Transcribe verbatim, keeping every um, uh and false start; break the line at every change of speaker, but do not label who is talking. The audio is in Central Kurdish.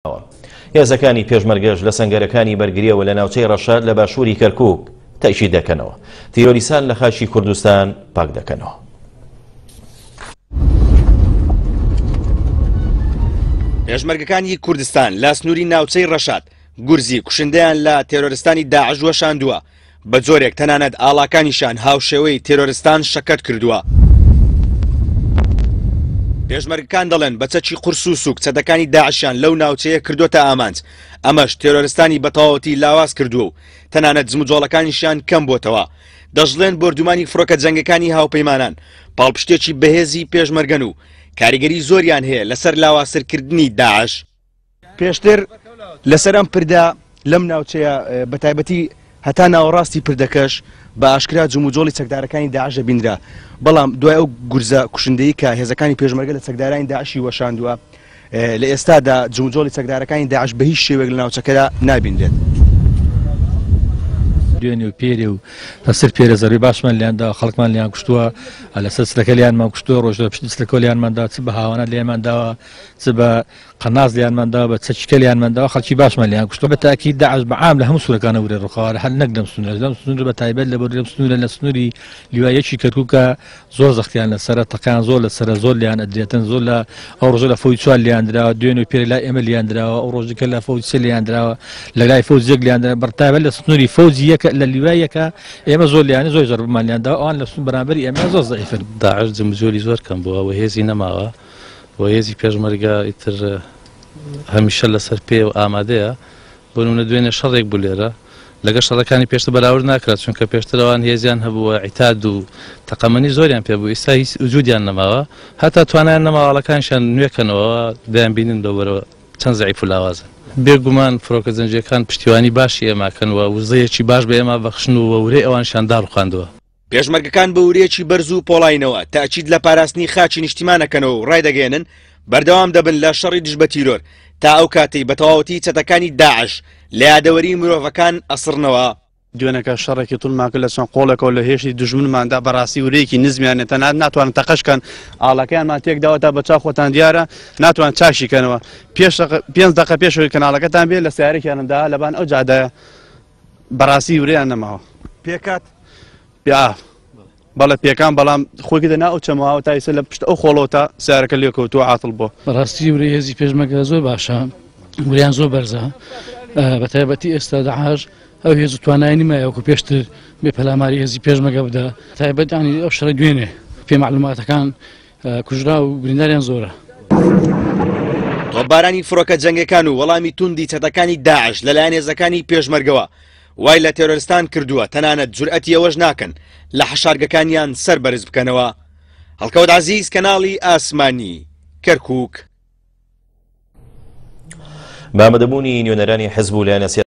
هێزەکانی پێشمەرگەش لە سەنگەرەکانی بەرگریەوە لە ناوچەی ڕەشاد لە باشووری کەرکووک تەئکید دەکەنەوە تیرۆریستان لە خاکی کوردستان پاک دەکەنەوە.
پێشمەرگەکانی کوردستان لە سنووری ناوچەی ڕەشاد گورزی کوشندەیان لە تێرۆرستانی داعش وەشاندووە، بە جۆرێک تەنانەت ئاڵاکانیشان هاوشێوەی تێرۆرستان شەکەت کردووە. پێشمەرگەکان دەڵێن بە چەکی قورس و سوک چەتەکانی داعشیان لەو ناوچەیە کردوۆتە ئامانج، ئەمەش تێرۆرستانی بەتەواوەتی لاواز کردووە و تەنانەت جموجۆڵەکانیشیان کەم بۆتەوە. دەشڵێن بۆردومانی فڕۆکە جەنگەکانی هاوپەیمانان پاڵپشتێکی بەهێزی پێشمەرگەن و کاریگەری زۆریان هەیە لەسەر لاوازترکردنی داعش. پێشتر لەسەر ئەم پردە لەم ناوچەیە بە تایبەتی هەتا ناوەڕاستی پردەکەش بە ئاشکرا جموجۆڵی چەکدارەکانی داعش دەبینرا، بەڵام دوای ئەو گورزە کوشندەیی کە هێزەکانی پێشمەرگە لە چەکدارانی داعشی وەشاندووە، لە ئێستادا جموجۆڵی چەکدارەکانی داعش بە هیچ شێوەیەک لە ناوچەکەدا نابینرێت.
دوێنێ و پێرێ و لەسەر پێرە زەروی باشمان لیاندا، خەڵکمان لیان کوشتووە، لەسەر سلەکە لیانمان کوشتووە، ڕۆژ لە پشتی سلەکە لیانماندا، چ بە هاوانە لیانمان داوە، چ بە قەناس لیانمان داوە، بە چەکیکە لیانمان داوە، خەڵکی باشمان لیان کوشتووە. بە تاکید داعش بە عام لە هەموو سوورەکانە ورێ ڕووخاوە، هەر نەک لەم سنوورە، لەم سنوورە بە تایبەت لە بەر لەم سنوورە لە سنووری لیوایەکی کەرکووکە زۆر زەختیان لەسەرە، تەقیان زۆر لەسەرە، زۆر لیان ئەدرێتن، زۆر لە ئەو ڕۆژە لە فەوج چوار لیان دراوە، دوێنێ و پێرێ لای ئێمە لیان دراوە، ئەو ڕۆژەکە لە فەوج سێ لیان دراوە، لە لای فەوج یەک لیان دراوە، بە تایبەت لە سنووری فەوج یەکە لە لیوای یەکە ئێمە زۆر لیانە زۆر زەربمان لیان داوە، ئەوان لە سنوور بەرامبەری ئێمە زۆر زەعیفن.
داعش جمجۆلی زۆر کەم بووە و هێزی نەماوە و هێزی پێشمەرگە ئیتر هەمیشە لەسەر پێ و ئامادەیە. بۆ نمونە دوێنێ شەڕێک بوو لێرە، لەگەڵ شەڕەکانی پێشتر بەراورد ناکرات، چونکە پێشتر ئەوان هێزیان هەبووە، عیتاد و تەقەمەنی زۆریان پێبوو، ئێستا هیچ وجودیان نەماوە، هەتا توانایان نەماوە ئاڵەکانیشیان نوێکەنەوە، دەیانبینن لەوبەرەوە چەند زەعیف و لاوازن. بێگومان فڕۆکە جەنگیەکان پشتیوانی باشی ئێماکەن و وزەیەکی باش بە ئێمە بەخشن و ورەی ئەوانشیان داڕوخاندووە.
پێشمەرگەکان بە ورەیەکی بەرز و پۆڵاینەوە تاکید لە پاراستنی خاکی نیشتیمانەکەنەوە و ڕایدەگەیەنن بەردەوام دەبن لە شەڕی دژ بە تیرۆر تا ئەو کاتەی بە تەواوەتی چەتەکانی داعش لە یادەوەری مرۆڤەکان ئەسڕنەوە.
دوێنەکە شەڕێکی توندمان کرد لە چەند قۆڵێکەوە لە هێشتی دوژمنماندا، بەڕاستی ورەیەکی نزمیانە، تەنانەت ناتوانن تەقەشکەن، ئاڵەکەیانمان تێکداوە تا بە چاو خۆتان دیارە ناتوان چاشیکەنەوە. پێنج دقە پێشەوەی کەناڵەکەتان بێ لە سیارێکیانمدا لەبان ئەو جادایە، بەڕاستی ورەیان نەماوە.
پێکات؟
بەڵێ پێکان، بەڵام خۆی کردە ناو ئەو چەماوە تا ئێستا لە پشت ئەو خۆڵەوە تا سیارەکە لێکەوتووە عاتڵ بووە.
بەڕاستی ورەی هێزی پێشمەرگە زۆر باشە، وریان زۆر بەرزە، بە تایبەتی ئێستا داعش ئەو هێز و توانایی نیمایە وەکو پێشتر بێ پەلاماری هێزی پێشمەرگە بدە، تایبەت ینی ئەو شەڕی دوێنێ پێ معلوماتەکان کوژرا و برینداریان زۆرە.
تۆپبارانی فڕۆکە جەنگەکان و وەڵامی توندی چەتەکانی داعش لەلایەن هێزەکانی پێشمەرگەوە وای لە تێرۆرستان کردووە تەنانەت جورئەتی ئەوەش ناکەن لە حەشارگەکانیان سەر بەرز بکەنەوە. هەڵکەوت عەزیز، کەناڵی ئاسمانی، کەرکووک.
بە ئامادەبوونی نوێنەرانی حزب و لایەنە